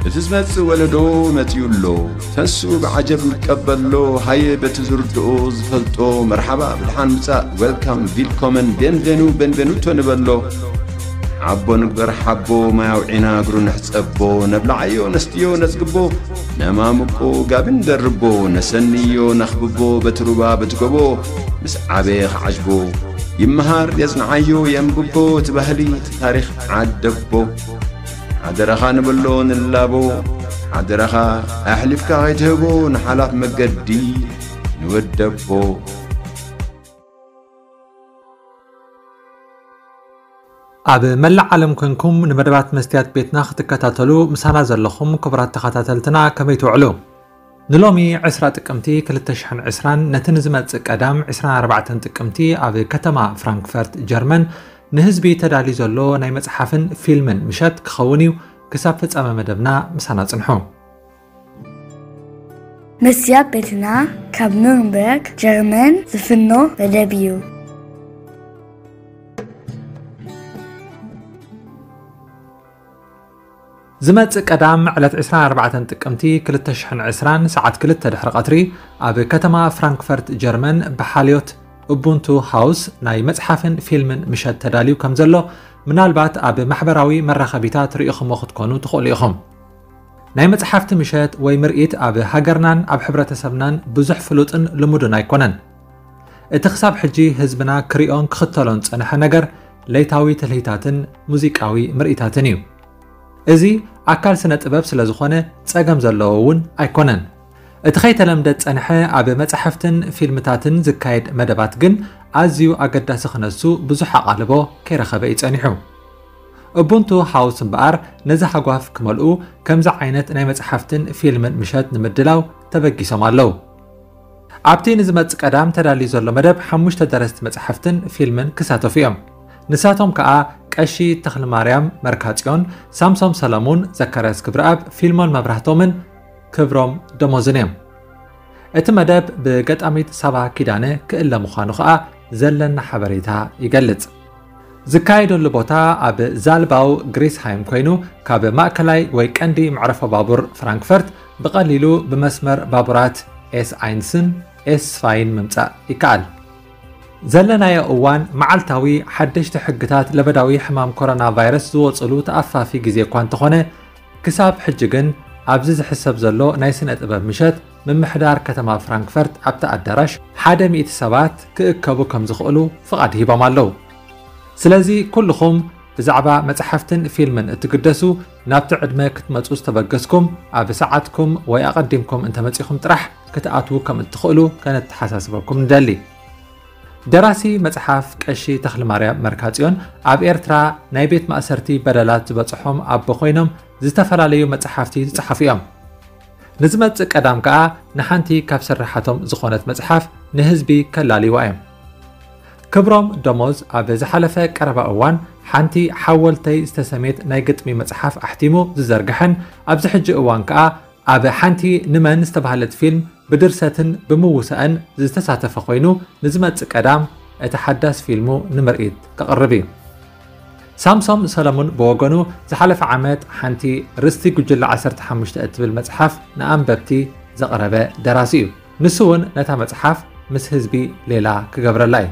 እቲ ዝመጽእ ወለዶ መጺኡ ኣሎ። ተንስኡ ብዓጀብ ንቀበሎ። ሃየ በቲ ዝርድኦ ዝፈልጦ መርሓባ ብድሓን ምጻእ፣ ዌልካም፣ ቪልኮመን፣ ቤንቬኑ፣ ቤንቬኑቶ ንበሎ። ሓቦ ንግበር ሓቦ፣ ማይ ኣውዒና እግሩ ንሕጸቦ። ነብልዓዮ ነስትዮ ነጽግቦ፣ ነማምቆ ጋቢ ንደርቦ። ነሰንዮ ነኽብቦ በቲ ሩባ በቲ ጎቦ። ምስ ዓበየ ክዓጅቦ ይመሃር የጽንዓዮ የንብቦ። እቲ ባህሊ እቲ ታሪኽ ዓደቦ። ሓደራኻ ንብሎ ንላቦ። ሓደራኻ ኣሕሊፍካ ከይትህቦ ንሓላፍ መገዲ ንወደቦ። ኣብ መላእ ዓለም ኮንኩም ንመደባት መስትያት ቤትና ክትከታተሉ ምሳና ዘለኹም ክቡራት ተኸታተልትና ከመይ ትውዕሉ? ንሎሚ ዕስራ ጥቅምቲ ክልተ ሽሕን ዕስራን ነቲ ንዝመጽእ ቀዳም ዕስራን ኣርባዕተን ጥቅምቲ ኣብ ከተማ ፍራንክፈርት ጀርመን ንህዝቢ ተዳልዩ ዘሎ ናይ መጽሓፍን ፊልምን ምሸት ክኸውን እዩ። ክሳብ ፍጻመ መደብና ምሳና ጽንሑ። መስትያት ቤትና ካብ ኑርንበርግ ጀርመን ዝፍኖ መደብ እዩ። ዝመጽእ ቀዳም ዕለት ዕስራን ኣርባዕተን ጥቅምቲ ክልተ ሽሕን ዕስራን ሰዓት ክልተ ድሕሪ ቀትሪ ኣብ ከተማ ፍራንክፈርት ጀርመን ብሓልዮት ኡቡንቱ ሃውስ ናይ መጽሓፍን ፊልምን ምሸት ተዳልዩ ከም ዘሎ ምናልባት ኣብ ማሕበራዊ መራኸቢታት ርኢኹሞ ክትኮኑ ትኽእሉ ኢኹም። ናይ መጽሓፍቲ ምሸት ወይ ምርኢት ኣብ ሃገርናን ኣብ ሕብረተሰብናን ብዙሕ ፍሉጥን ልሙድን ኣይኮነን። እቲ ክሳብ ሕጂ ህዝብና ክሪኦን ክኽተሎን ዝጸንሐ ነገር ለይታዊ ትልሂታትን ሙዚቃዊ ምርኢታትን እዩ። እዚ ኣካል ስነ ጥበብ ስለ ዝኾነ ጸገም ዘለዎ እውን ኣይኮነን። እቲ ከይተለምደ ዝጸንሐ ኣብ መጻሕፍትን ፊልምታትን ዝካየድ መደባት ግን ኣዝዩ ኣገዳሲ ክነሱ ብዙሕ ኣቓልቦ ከይረኸበ እዩ ጸኒሑ። ኡቡንቱ ሃውስ እምበኣር ነዚ ሃጓፍ ክመልኡ ከምዚ ዓይነት ናይ መጽሓፍትን ፊልምን ምሸት ንምድላው ተበጊሶም ኣለዉ። ኣብቲ ንዝመጽእ ቀዳም ተዳልዩ ዘሎ መደብ ሓሙሽተ ደረስቲ መጽሓፍትን ፊልምን ክሳተፉ እዮም። ንሳቶም ከኣ ቀሺ ተኽልማርያም መርካጽዮን፣ ሳምሶም ሰለሙን፣ ዘካርያስ ክብረኣብ፣ ፊልሞን መብራህቶምን ክብሮም ደሞዝን እዮም። እቲ መደብ ብገጣሚት ሳባ ኪዳነ ክእለ ምዃኑ ከኣ ዘለና ሓበሬታ ይገልጽ። ዝካየደሉ ቦታ ኣብ ዛልባው ግሪስሃይም ኮይኑ፣ ካብ ማእከላይ ወይ ቀንዲ መዕረፎ ባቡር ፍራንክፈርት ብቐሊሉ ብመስመር ባቡራት ኤስ ኣይንስን ኤስ ስፋይን ምምጻእ ይከኣል። ዘለናዮ እዋን መዓልታዊ ሓደሽቲ ሕግታት ለበዳዊ ሕማም ኮሮና ቫይረስ ዝወጽሉ ተኣፋፊ ግዜ እኳ እንተኾነ፣ ክሳብ ሕጂ ግን ኣብዚ ዝሕሰብ ዘሎ ናይ ስነ ጥበብ ምሸት ምምሕዳር ከተማ ፍራንክፈርት ኣብቲ ኣዳራሽ ሓደ ሚእቲ ሰባት ክእከቡ ከም ዝኽእሉ ፍቓድ ሂቦም ኣለዉ። ስለዚ ኩልኹም ብዛዕባ መጽሓፍትን ፊልምን እትግደሱ ናብቲ ዕድመ ክትመጹ ዝተበገስኩም ኣብ ሰዓትኩም ወይ ኣቐዲምኩም እንተመጺኹም ጥራሕ ክትኣትዉ ከም እትኽእሉ ከነተሓሳስበኩም ንደሊ። ደራሲ መጽሓፍ ቀሺ ተኽልማርያም መርካጽዮን ኣብ ኤርትራ ናይ ቤት ማእሰርቲ በደላት ዝበጽሖም ኣቦ ኮይኖም ዝተፈላለዩ መጽሓፍቲ ዝጸሓፉ እዮም። ንዝመጽእ ቀዳም ከኣ ንሓንቲ ካብ ስርሓቶም ዝኾነት መጽሓፍ ንህዝቢ ከላልይዋ እዮም። ክብሮም ደሞዝ ኣብ ዝሓለፈ ቀረባ እዋን ሓንቲ ሓወልተይ ዝተሰሜት ናይ ግጥሚ መጽሓፍ ኣሕቲሙ ዝዘርግሐን ኣብዚ ሕጂ እዋን ከኣ ኣብ ሓንቲ ንመን ዝተባህለት ፊልም ብድርሰትን ብምውሳእን ዝተሳተፈ ኮይኑ ንዝመጽእ ቀዳም እቲ ሓዳስ ፊልሙ ንምርኢት ከቕርብ እዩ። ሳምሶም ሰለሙን ብወገኑ ዝሓለፈ ዓመት ሓንቲ ርስቲ ጉጅለ ዓሰርተ ሓሙሽተ እትብል መጽሓፍ ንኣንበብቲ ዘቕረበ ደራሲ እዩ። ንሱ እውን ነታ መጽሓፍ ምስ ህዝቢ ሌላ ክገብረላ እዩ።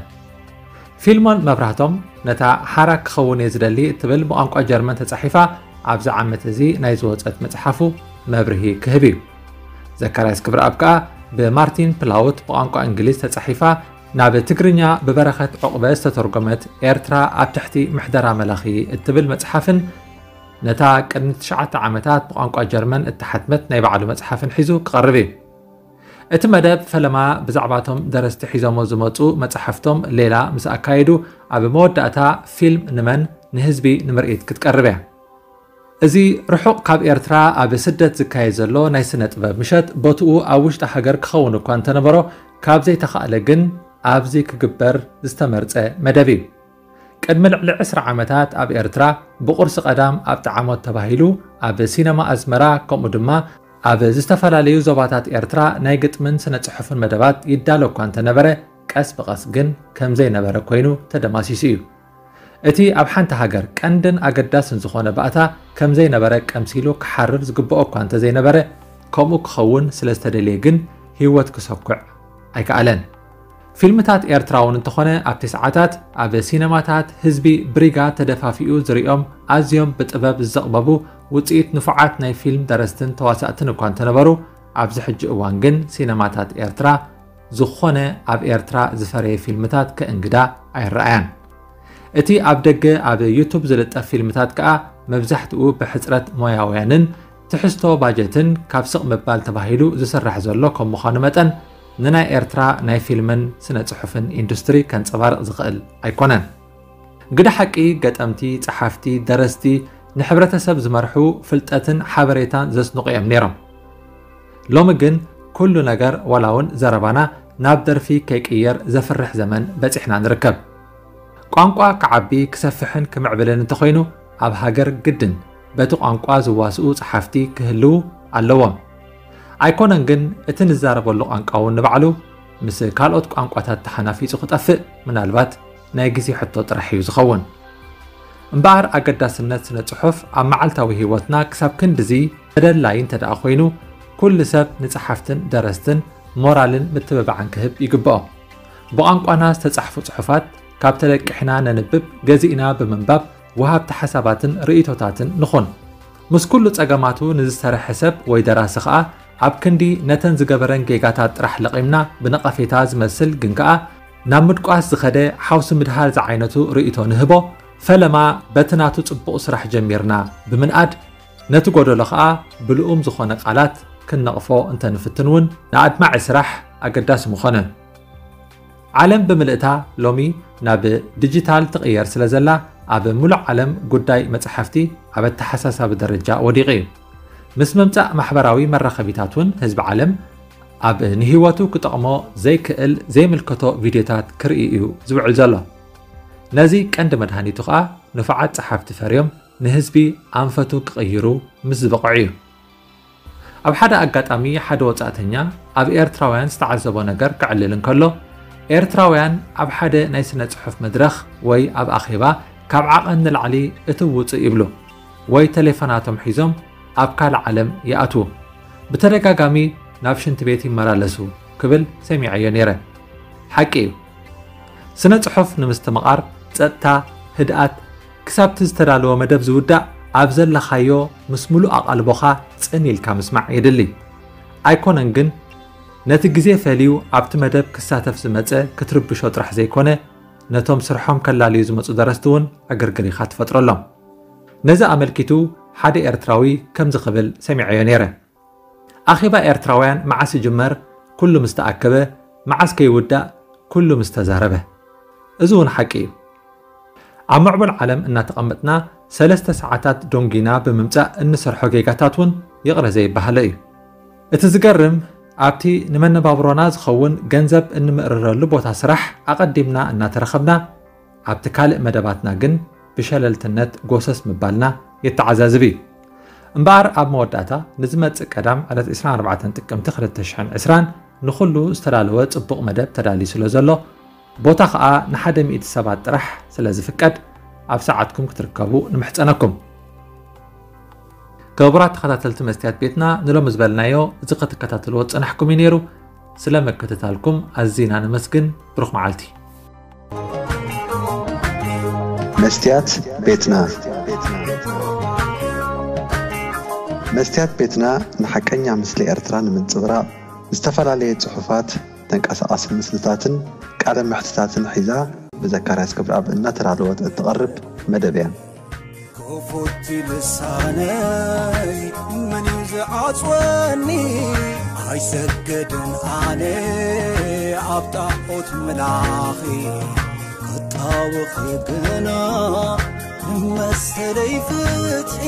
ፊልሞን መብራህቶም ነታ ሓራ ክኸውን እየ ዝደሊ እትብል ብቋንቋ ጀርመን ተጻሒፋ ኣብዚ ዓመት እዚ ናይ ዝወጸት መጽሓፉ መብርሂ ክህብ እዩ። ዘካርያስ ክብረኣብ ከኣ ብማርቲን ፕላውት ብቋንቋ እንግሊዝ ተጻሒፋ ናብ ትግርኛ ብበረኸት ዑቕበ ዝተተርጎመት ኤርትራ ኣብ ትሕቲ ምሕደራ መላኺ እትብል መጽሓፍን ነታ ቅድሚ ትሽዓተ ዓመታት ብቋንቋ ጀርመን እተሓትመት ናይ ባዕሉ መጽሓፍን ሒዙ ክቐርብ እዩ። እቲ መደብ ፈለማ ብዛዕባቶም ደረስቲ ሒዞሞ ዝመጹ መጻሕፍቶም ሌላ ምስ ኣካየዱ ኣብ መወዳእታ ፊልም ንመን ንህዝቢ ንምርኢት ክትቀርብ እያ። እዚ ርሑቕ ካብ ኤርትራ ኣብ ስደት ዝካየድ ዘሎ ናይ ስነ ጥበብ ምሸት ቦትኡ ኣብ ውሽጢ ሃገር ክኸውን እኳ እንተነበሮ ካብ ዘይተኻእለ ግን ኣብዚ ክግበር ዝተመርጸ መደብ እዩ። ቅድሚ ልዕሊ ዕስራ ዓመታት ኣብ ኤርትራ ብቑርሲ ቀዳም ኣብ ጠዓሞት ተባሂሉ ኣብ ሲነማ ኣዝመራ ከምኡ ድማ ኣብ ዝተፈላለዩ ዞባታት ኤርትራ ናይ ግጥምን ስነ ጽሑፍን መደባት ይዳሎ እኳ እንተነበረ ቀስ ብቐስ ግን ከም ዘይነበረ ኮይኑ ተደማሲሱ እዩ። እቲ ኣብ ሓንቲ ሃገር ቀንድን ኣገዳስን ዝኾነ ባእታ ከም ዘይነበረ ቀምሲሉ ክሓርር ዝግብኦ እኳ እንተዘይነበረ፣ ከምኡ ክኸውን ስለ ዝተደልየ ግን ህይወት ክሰኩዕ ኣይከኣለን። ፊልምታት ኤርትራ እውን እንተኾነ ኣብቲ ሰዓታት ኣብ ሲነማታት ህዝቢ ብሪጋ ተደፋፊኡ ዝሪኦም ኣዝዮም ብጥበብ ዝዘቕበቡ ውፅኢት ንፉዓት ናይ ፊልም ደረስትን ተዋሳእትን እኳ እንተነበሩ፣ ኣብዚ ሕጂ እዋን ግን ሲነማታት ኤርትራ ዝኾነ ኣብ ኤርትራ ዝፈረየ ፊልምታት ከእንግዳ ኣይረኣያን። እቲ ኣብ ደገ ኣብ ዩቱብ ዝልጠፍ ፊልምታት ከኣ መብዛሕትኡ ብሕጽረት ሞያውያንን ትሕዝቶ ባጀትን ካብ ስቕ ምባል ተባሂሉ ዝስራሕ ዘሎ ከም ምዃኑ መጠን፣ ንናይ ኤርትራ ናይ ፊልምን ስነ ጽሑፍን ኢንዱስትሪ ከንጸባርቕ ዝኽእል ኣይኮነን። ግደ ሓቂ፣ ገጠምቲ፣ ጸሓፍቲ፣ ደረስቲ፣ ንሕብረተሰብ ዝመርሑ፣ ፍልጠትን ሓበሬታን ዘስንቑ እዮም ነይሮም። ሎሚ ግን ኩሉ ነገር፣ ዋላ እውን ዘረባና፣ ናብ ደርፊ ከይቅየር ዘፍርሕ ዘመን በጺሕና ንርከብ። ቋንቋ ክዓቢ፣ ክሰፍሕን ክምዕብልን እንተኾይኑ፣ ኣብ ሃገር ግድን በቲ ቋንቋ ዝዋስኡ ጸሓፍቲ ክህልዉ ኣለዎም። ኣይኮነን ግን እቲ ንዛረበሉ ቋንቋ እውን ንባዕሉ ምስ ካልኦት ቋንቋታት ተሓናፊጹ ክጠፍእ ምናልባት ናይ ግዜ ሕቶ ጥራሕ እዩ ዝኸውን። እምበኣር ኣገዳስነት ስነ ጽሑፍ ኣብ መዓልታዊ ህይወትና ክሳብ ክንድዚ ተደላዪ እንተ ደኣ ኮይኑ፣ ኩሉ ሰብ ንጸሓፍትን ደረስትን ሞራልን ምትብባዕን ክህብ ይግብኦ። ብቋንቋና ዝተጻሕፉ ጽሑፋት ካብ ተለቂሕና ነንብብ፣ ገዚእና ብምንባብ ወሃብቲ ሓሳባትን ርእይቶታትን ንኹን። ምስ ኩሉ ጸገማቱ ንዝሰርሐ ሰብ ወይ ደራሲ ኸኣ ኣብ ክንዲ ነተን ዝገበረን ጌጋታት ጥራሕ ለቒምና ብነቐፌታ ዝመስል ግን ከኣ ናብ ምድቋስ ዝኸደ ሓውሲ ምድሃል ዝዓይነቱ ርእይቶ ንህቦ። ፈለማ በቲ ናቱ ጽቡቕ ስራሕ ጀሚርና ብምንኣድ ነቲ ጎደሎ ኸኣ ብልኡም ዝኾነ ቃላት ክንነቕፎ እንተንፍትን እውን ንኣድማዒ ስራሕ ኣገዳሲ ምኾነ። ዓለም ብምልእታ ሎሚ ናብ ዲጂታል ትቕየር ስለ ዘላ፣ ኣብ ምሉእ ዓለም ጉዳይ መጽሓፍቲ ኣብ ኣተሓሳሳቢ ደረጃ ወዲቑ እዩ። ምስ ምምጻእ ማሕበራዊ መራኸቢታት እውን ህዝቢ ዓለም ኣብ ንህይወቱ ክጠቕሞ ዘይክእል ዘይምልከቶ ቪድዮታት ክርኢ እዩ ዝውዕል ዘሎ። ነዚ ቀንዲ መድሃኒቱ ኸኣ ንፉዓት ጸሓፍቲ ፈርዮም ንህዝቢ ኣንፈቱ ክቕይሩ ምስ ዝበቕዑ እዩ። ኣብ ሓደ ኣጋጣሚ ሓደ ወጻእተኛ ኣብ ኤርትራውያን ዝተዓዘቦ ነገር ከዕልል እንከሎ፣ ኤርትራውያን ኣብ ሓደ ናይ ስነ ጽሑፍ መድረኽ ወይ ኣብ ኣኼባ ካብ ዓቐን ንላዕሊ እትው ውጽእ ይብሉ ወይ ተሌፎናቶም ሒዞም ኣብ ካልእ ዓለም ይኣትዉ። ብተደጋጋሚ ናብ ሽንቲ ቤት ይመላለሱ ክብል ሰሚዐዮ ነይረ። ሓቂ እዩ። ስነ ጽሑፍ ንምስትምቓር ጸጥታ፣ ህድኣት፣ ክሳብቲ ዝተዳለወ መደብ ዝውዳእ ኣብ ዘለኻዮ ምስ ምሉእ ኣቓልቦኻ ጽን ኢልካ ምስማዕ የድሊ። ኣይኮነን ግን፣ ነቲ ግዜ ፈልዩ ኣብቲ መደብ ክሳተፍ ዝመጸ ክትርብሾ ጥራሕ ዘይኮነ፣ ነቶም ስርሖም ከላልዩ ዝመጹ ደረስቲ እውን ዕግርግር ኢኻ ትፈጥረሎም። ነዚ ኣመልኪቱ ሓደ ኤርትራዊ ከምዚ ክብል ሰሚዐዮ ነይረ። ኣኼባ ኤርትራውያን መዓስ ይጅመር? ኩሉ ምስ ተኣከበ፣ መዓስ ከይውዳእ? ኩሉ ምስ ተዛረበ። እዚ እውን ሓቂ እዩ። ኣብ ምዕቡል ዓለም እናተቐመጥና ሰለስተ ሰዓታት ዶንጊና ብምምጻእ እንሰርሖ ጌጋታት እውን ይቕረ ዘይበሃሎ እዩ። እቲ ዝገርም፣ ኣብቲ ንመነባብሮና ዝኸውን ገንዘብ እንምእርረሉ ቦታ ስራሕ ኣቐዲምና እናተረኸብና፣ ኣብቲ ካልእ መደባትና ግን ብሸለልትነት ጎሰስ ምባልና የተዓዛዝብ እዩ። እምበኣር ኣብ መወዳእታ ንዝመጽእ ቀዳም ዕለት ዕስራን ኣርባዕተን ጥቅምቲ ክልተ ሽሕን ዕስራን ንኹሉ ዝተዳለወ ጽቡቕ መደብ ተዳልዩ ስለ ዘሎ፣ ቦታ ኸኣ ንሓደ ሚእቲ ሰባት ጥራሕ ስለ ዝፍቀድ ኣብ ሰዓትኩም ክትርከቡ ንምሕጸነኩም። ክቡራት ተኸታተልቲ መስትያት ቤትና፣ ንሎሚ ዝበልናዮ እዚ ክትከታተልዎ ዝጸናሕኩም እዩ ነይሩ። ስለ ምክትታልኩም ኣዚና ነመስግን። ብሩኽ መዓልቲ። መስትያት ቤትና። መስትያት ቤትና ንሓቀኛ ምስሊ ኤርትራ ንምንጽብራቕ ዝተፈላለየ ጽሑፋት፣ ተንቀሳቓሲ ምስልታትን ቃለ መሕትታትን ሒዛ ብዘካርያስ ክብረኣብ እናተዳለወት እትቐርብ መደብ እያ። ክፉት ልሳነይ መን እዩ ዝዓጽወኒ? ኣይሰግድን ኣነ ኣብ ጣዖት ምላኺ፣ ክጣወኺ ግና መሰለይ ፍትሒ።